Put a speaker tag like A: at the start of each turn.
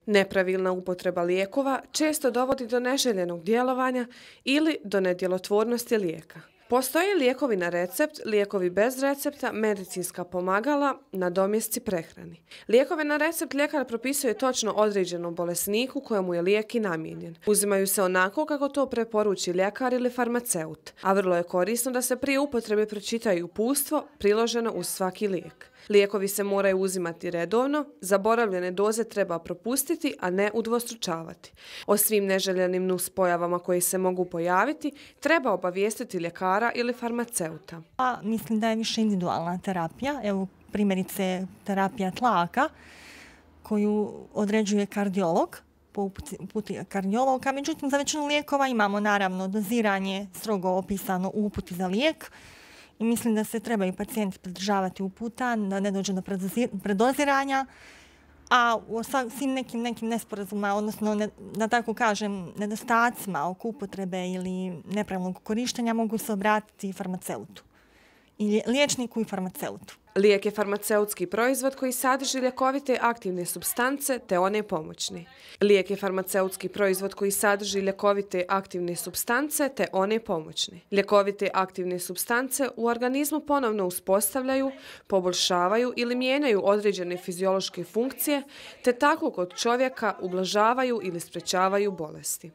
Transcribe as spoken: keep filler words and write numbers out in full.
A: Nepravilna upotreba lijekova često dovodi do neželjenog djelovanja ili do nedjelotvornosti lijeka. Postoje lijekovi na recept, lijekovi bez recepta, medicinska pomagala, nadomjesci prehrani. Lijekove na recept ljekar propisuje točno određenom bolesniku kojemu je lijek i namijenjen. Uzimaju se onako kako to preporuči ljekar ili farmaceut, a vrlo je korisno da se prije upotrebe pročitaju uputstvo priloženo uz svaki lijek. Lijekovi se moraju uzimati redovno, zaboravljene doze treba propustiti, a ne udvostručavati. O svim neželjenim nuspojavama koji se mogu pojaviti treba obavijestiti ljekara ili farmaceuta.
B: A, mislim da je više individualna terapija, evo primjerice terapija tlaka koju određuje kardiolog, po uputi kardiologa, međutim za većinu lijekova imamo naravno doziranje strogo opisano u uputi za lijek. I mislim da se trebaju pacijenti pridržavati uputa, da ne dođe do predoziranja, a u svim nekim, nekim nesporazuma, odnosno, ne, da tako kažem, nedostacima oko upotrebe ili nepravilnog korištenja mogu se obratiti farmaceutu, i liječniku i farmaceutu.
A: Lijek je farmaceutski proizvod koji sadrži ljekovite aktivne supstance te one pomoćne. Lijek je farmaceutski proizvod koji sadrži ljekovite aktivne supstance te one pomoćne. Ljekovite aktivne supstance u organizmu ponovno uspostavljaju, poboljšavaju ili mijenjaju određene fiziološke funkcije te tako kod čovjeka ublažavaju ili sprečavaju bolesti.